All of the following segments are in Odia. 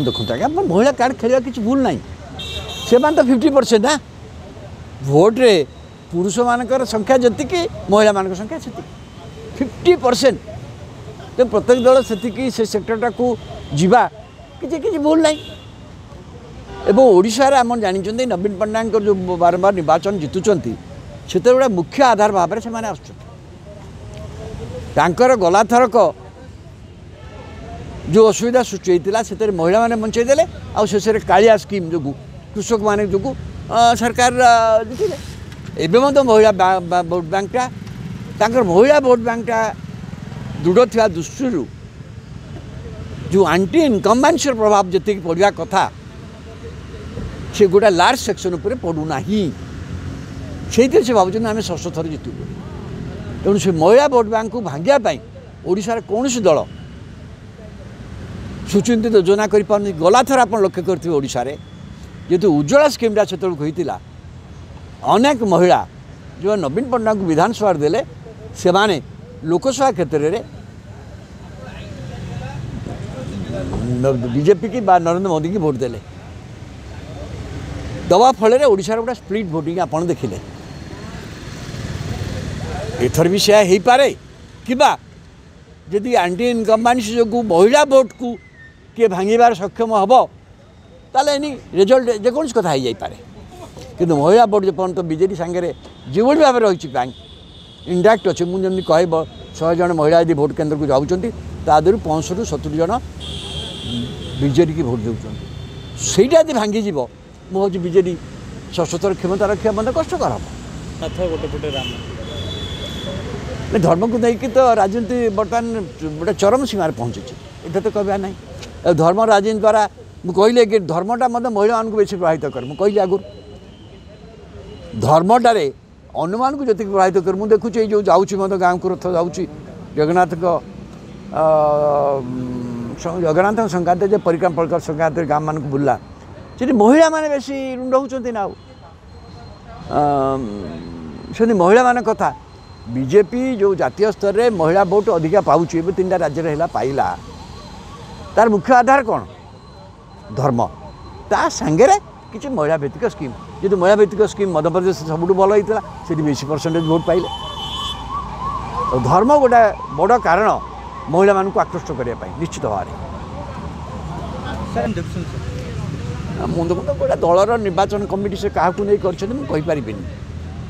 ଦେଖନ୍ତୁ ଆଜ୍ଞା, ଆପଣ ମହିଳା କାର୍ଡ଼ ଖେଳିବା କିଛି ଭୁଲ ନାହିଁ। ସେମାନେ ତ 50% ନା ଭୋଟରେ, ପୁରୁଷମାନଙ୍କର ସଂଖ୍ୟା ଯେତିକି ମହିଳାମାନଙ୍କ ସଂଖ୍ୟା ସେତିକି, 50%। ତେଣୁ ପ୍ରତ୍ୟେକ ଦଳ ସେତିକି ସେ ସେକ୍ଟରଟାକୁ ଯିବା କିଛି କିଛି ଭୁଲ ନାହିଁ। ଏବଂ ଓଡ଼ିଶାରେ ଆପଣ ଜାଣିଛନ୍ତି, ନବୀନ ପଟ୍ଟନାୟକଙ୍କର ଯେଉଁ ବାରମ୍ବାର ନିର୍ବାଚନ ଜିତୁଛନ୍ତି, ସେତେବେଳେ ମୁଖ୍ୟ ଆଧାର ଭାବରେ ସେମାନେ ଆସୁଛନ୍ତି। ତାଙ୍କର ଗଲାଥରକ ଯେଉଁ ଅସୁବିଧା ସୃଷ୍ଟି ହୋଇଥିଲା, ସେଥିରେ ମହିଳାମାନେ ବଞ୍ଚେଇ ଦେଲେ। ଆଉ ଶେଷରେ କାଳିଆ ସ୍କିମ୍ ଯୋଗୁଁ, କୃଷକମାନେ ଯୋଗୁଁ ସରକାର ଜିତିଲେ। ଏବେ ମଧ୍ୟ ମହିଳା ଭୋଟ୍ ବ୍ୟାଙ୍କଟା, ତାଙ୍କର ମହିଳା ଭୋଟ୍ ବ୍ୟାଙ୍କଟା ଦୃଢ଼ ଥିବା ଦୃଷ୍ଟିରୁ ଯେଉଁ ଆଣ୍ଟି ଇନକମ୍ବାନ୍ସିର ପ୍ରଭାବ ଯେତିକି ପଡ଼ିବା କଥା, ସେ ଗୋଟେ ଲାର୍ଜ ସେକ୍ସନ୍ ଉପରେ ପଡ଼ୁନାହିଁ। ସେଇଥିରେ ସେ ଭାବୁଛନ୍ତି ଆମେ ଷଷ୍ଠ ଥର ଜିତିବୁ। ତେଣୁ ସେ ମହିଳା ଭୋଟ୍ ବ୍ୟାଙ୍କକୁ ଭାଙ୍ଗିବା ପାଇଁ ଓଡ଼ିଶାରେ କୌଣସି ଦଳ ସୁଚିନ୍ତିତ ଯୋଜନା କରିପାରୁନି। ଗଲାଥର ଆପଣ ଲକ୍ଷ୍ୟ କରିଥିବେ, ଓଡ଼ିଶାରେ ଯେହେତୁ ଉଜ୍ଜଳା ସ୍କିମ୍ଟା ସେତେବେଳକୁ ହୋଇଥିଲା, ଅନେକ ମହିଳା ଯେଉଁ ନବୀନ ପଟ୍ଟନାୟକଙ୍କୁ ବିଧାନସଭାରେ ଦେଲେ, ସେମାନେ ଲୋକସଭା କ୍ଷେତ୍ରରେ ବିଜେପି କି ବା ନରେନ୍ଦ୍ର ମୋଦିକି ଭୋଟ୍ ଦେଲେ। ଦେବା ଫଳରେ ଓଡ଼ିଶାର ଗୋଟେ ସ୍ପ୍ଲିଟ୍ ଭୋଟିଂ ଆପଣ ଦେଖିଲେ। ଏଥର ବି ସେୟା ହେଇପାରେ, କିମ୍ବା ଯଦି ଆଣ୍ଟି ଇନକମ୍ବାନ୍ସି ଯୋଗୁଁ ମହିଳା ଭୋଟ୍କୁ କିଏ ଭାଙ୍ଗିବାର ସକ୍ଷମ ହେବ, ତାହେଲେ ଏନି ରେଜଲ୍ଟ ଯେକୌଣସି କଥା ହେଇଯାଇପାରେ। କିନ୍ତୁ ମହିଳା ଭୋଟ୍ ଯେପର୍ଯ୍ୟନ୍ତ ବିଜେଡ଼ି ସାଙ୍ଗରେ ଯେଭଳି ଭାବରେ ରହିଛି, ବ୍ୟାଙ୍କ ଇଣ୍ଡାକ୍ଟ ଅଛି, ମୁଁ ଯେମିତି କହିବ 100 ଜଣ ମହିଳା ଯଦି ଭୋଟ୍ କେନ୍ଦ୍ରକୁ ଯାଉଛନ୍ତି, ତା ଦେହରୁ 65ରୁ 70 ଜଣ ବିଜେଡ଼ିକି ଭୋଟ୍ ଦେଉଛନ୍ତି। ସେଇଟା ଯଦି ଭାଙ୍ଗିଯିବ, ମୁଁ ଭାବୁଛି ବିଜେଡ଼ି ସଶସ୍ତ୍ର କ୍ଷମତା ରଖିବା ମଧ୍ୟ କଷ୍ଟକର ହେବ। ଗୋଟେ ପଟେ ରାମ ଧର୍ମକୁ ନେଇକି ତ ରାଜନୀତି ବର୍ତ୍ତମାନ ଗୋଟେ ଚରମ ସୀମାରେ ପହଞ୍ଚିଛି, ଏଇଟା ତ କହିବା ନାହିଁ। ଧର୍ମ ରାଜନୀତି ଦ୍ୱାରା ମୁଁ କହିଲି କି ଧର୍ମଟା ମଧ୍ୟ ମହିଳାମାନଙ୍କୁ ବେଶୀ ପ୍ରଭାବିତ କରେ। ମୁଁ କହିଲି ଆଗରୁ, ଧର୍ମଟାରେ ଅନ୍ୟମାନଙ୍କୁ ଯେତିକି ପ୍ରଭାବିତ କରେ, ମୁଁ ଦେଖୁଛି ଏଇ ଯେଉଁ ଯାଉଛି ମଧ୍ୟ ଗାଁକୁ ରଥ ଯାଉଛି, ଜଗନ୍ନାଥଙ୍କ ସଂକ୍ରାନ୍ତରେ ଯେ ପରିକ୍ରମା ପରିକ୍ରମା ସଂକ୍ରାନ୍ତରେ ଗାଁମାନଙ୍କୁ ବୁଲିଲା, ସେଠି ମହିଳାମାନେ ବେଶୀ ରୁଣ୍ଡ ହେଉଛନ୍ତି ନା। ଆଉ ସେମିତି ମହିଳାମାନଙ୍କ କଥା, ବିଜେପି ଯେଉଁ ଜାତୀୟ ସ୍ତରରେ ମହିଳା ଭୋଟ୍ ଅଧିକା ପାଉଛି, ଏବେ 3ଟା ରାଜ୍ୟରେ ହେଲା ପାଇଲା, ତାର ମୁଖ୍ୟ ଆଧାର କ'ଣ? ଧର୍ମ, ତା ସାଙ୍ଗରେ କିଛି ମହିଳା ଭିତ୍ତିକ ସ୍କିମ୍। ଯେହେତୁ ମହିଳା ଭିତ୍ତିକ ସ୍କିମ୍ ମଧ୍ୟପ୍ରଦେଶ ସବୁଠୁ ଭଲ ହେଇଥିଲା, ସେଠି ବେଶୀ ପରସେଣ୍ଟେଜ୍ ଭୋଟ୍ ପାଇଲେ। ଧର୍ମ ଗୋଟେ ବଡ଼ କାରଣ ମହିଳାମାନଙ୍କୁ ଆକୃଷ୍ଟ କରିବା ପାଇଁ ନିଶ୍ଚିତ ଭାବରେ। ମୁଁ ଦେଖନ୍ତୁ, ଗୋଟେ ଦଳର ନିର୍ବାଚନ କମିଟି ସେ କାହାକୁ ନେଇ କରିଛନ୍ତି ମୁଁ କହିପାରିବିନି,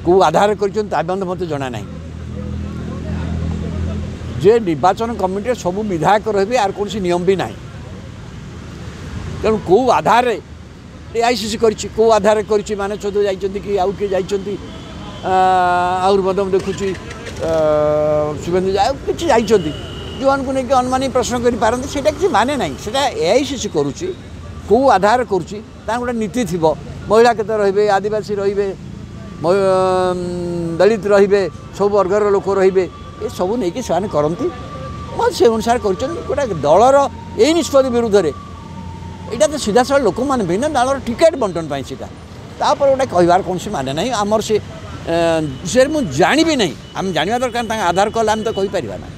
କେଉଁ ଆଧାରରେ କରିଛନ୍ତି ତା ମଧ୍ୟ ମୋତେ ଜଣା ନାହିଁ। ଯେ ନିର୍ବାଚନ କମିଟିରେ ସବୁ ବିଧାୟକ ରହିବେ, ଆର କୌଣସି ନିୟମ ବି ନାହିଁ। ତେଣୁ କେଉଁ ଆଧାରରେ ଏଆଇସିସି କରିଛି, କେଉଁ ଆଧାରରେ କରିଛି, ମାନସ ଚୌଧୁରୀ ଯାଇଛନ୍ତି କି ଆଉ କିଏ ଯାଇଛନ୍ତି, ଆହୁରି ମଧ୍ୟ ମୁଁ ଦେଖୁଛି ଶୁଭେନ୍ଦୁ ଆଉ କିଛି ଯାଇଛନ୍ତି, ଯେଉଁମାନଙ୍କୁ ନେଇକି ଅନୁମାନିକ ପ୍ରଶ୍ନ କରିପାରନ୍ତି, ସେଇଟା କିଛି ମାନେ ନାହିଁ। ସେଇଟା ଏଆଇସିସି କରୁଛି, କେଉଁ ଆଧାରରେ କରୁଛି ତାଙ୍କ ଗୋଟେ ନୀତି ଥିବ। ମହିଳା କେତେ ରହିବେ, ଆଦିବାସୀ ରହିବେ, ଦଳିତ ରହିବେ, ସବୁ ବର୍ଗର ଲୋକ ରହିବେ, ଏସବୁ ନେଇକି ସେମାନେ କରନ୍ତି। ସେ ଅନୁସାରେ କରିଛନ୍ତି। ଗୋଟେ ଦଳର ଏଇ ନିଷ୍ପତ୍ତି ବିରୁଦ୍ଧରେ ଏଇଟା ତ ସିଧାସଳଖ ଲୋକମାନେ ଭିନ୍ନ ଦଳର ଟିକେଟ୍ ବଣ୍ଟନ ପାଇଁ ସେଇଟା, ତାପରେ ଗୋଟେ କହିବାର କୌଣସି ମାନେ ନାହିଁ। ଆମର ସେ ସେ ମୁଁ ଜାଣିବି ନାହିଁ, ଆମେ ଜାଣିବା ଦରକାର ତାଙ୍କ ଆଧାର କଲେ ଆମେ ତ କହିପାରିବା ନା।